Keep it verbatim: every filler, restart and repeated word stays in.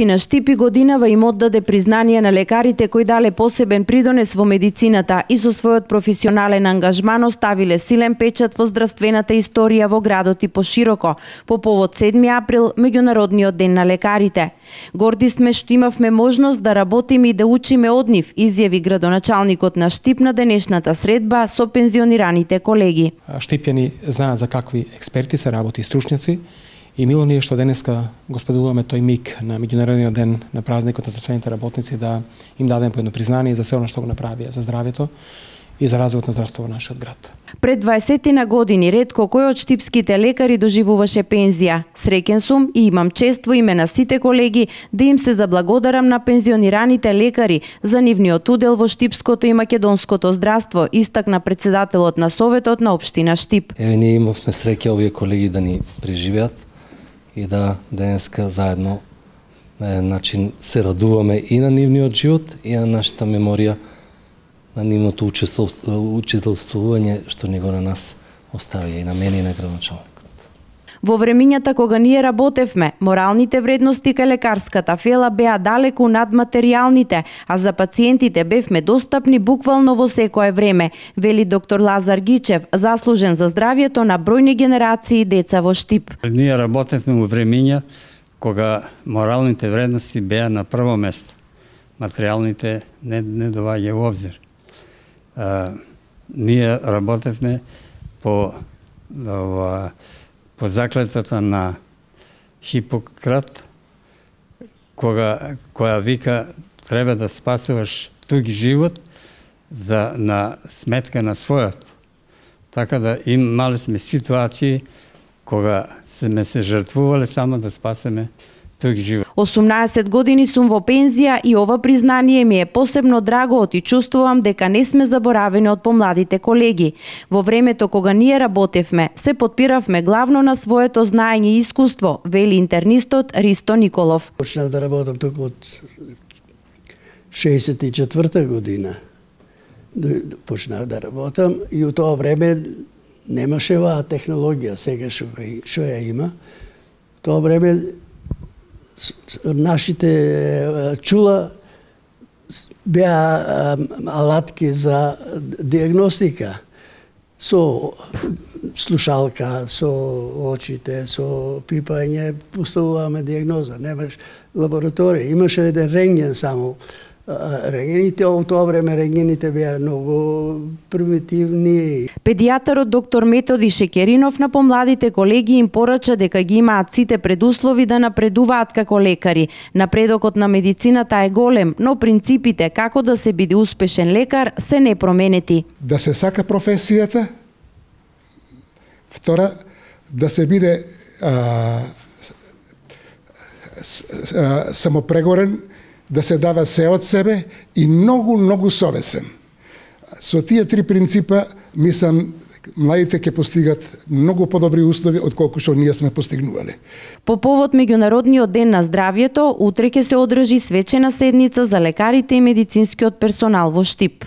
Општина Штип и годинава им оддаде признание на лекарите кои дале посебен придонес во медицината и со својот професионален ангажман оставиле силен печат во здравствената историја во градот и пошироко, по повод седми април, Меѓународниот ден на лекарите. Горди сме што имавме можност да работиме и да учиме од нив, изјави градоначалникот на Штип на денешната средба со пензионираните колеги. Штипјани знаат за какви експерти се работи и стручњаци, и мило ни е што денеска го споделуваме тој миг на Меѓународниот ден на празникот на здравствените работници да им дадем по едно признание за се оно што го направија за здравјето и за развојот на здравството во нашиот град. Пред дваесетина години ретко кој од штипските лекари доживуваше пензија. Среќен сум и имам чест во име на сите колеги да им се заблагодарам на пензионираните лекари за нивниот удел во штипското и македонското здравство, истакна председателот на Советот на општина Штип. Еве ние имавме среќа овие колеги да ни преживеат и да денеска заедно на еден начин се радуваме и на нивниот живот и на нашата меморија, на нивното учителствување што ни го на нас оставија и на мене и на градоначалникот. Во времињата кога ние работевме, моралните вредности кај лекарската фела беа далеку над материјалните, а за пациентите бевме достапни буквално во секое време, вели доктор Лазар Гичев, заслужен за здравјето на бројни генерации деца во Штип. Ние работевме во времиња кога моралните вредности беа на прво место. Материјалните не, не доваѓа во обзир. А, ние работевме по ова, по заклетвата на Хипократ, кога која вика треба да спасуваш туѓ живот за на сметка на својот. Така да имале сме ситуации кога сме се жртвувале само да спасеме туѓ живот. осумнаесет години сум во пензија и ова признание ми е посебно драго и чувствувам дека не сме заборавени од помладите колеги. Во времето кога ние работевме, се потпиравме главно на своето знаење и искуство, вели интернистот Ристо Николов. Почнав да работам тук од шеесет и четврта година. Почнав да работам и у тоа време немаше оваа технологија, сега што што ја има. Тоа време нашите чула беа алатки за диагностика. Со слушалка, со очите, со пипање поставуваме диагноза. Немаш лабораторија. Имаше еден рентген само. Рентгените, во тоа време рентгените беа многу примитивни. Педијатарот доктор Методи Шекеринов на помладите колеги им порача дека ги имаат сите предуслови да напредуваат како лекари. Напредокот на медицината е голем, но принципите како да се биде успешен лекар се непроменети. Да се сака професијата, втора, да се биде а, а, самопрегорен, да се дава се од себе и многу, многу совесен. Со тие три принципа, мислам, младите ќе постигат многу подобри услови од колку што ние сме постигнувале. По повод Меѓународниот ден на здравјето, утре ќе се одржи свечена седница за лекарите и медицинскиот персонал во Штип.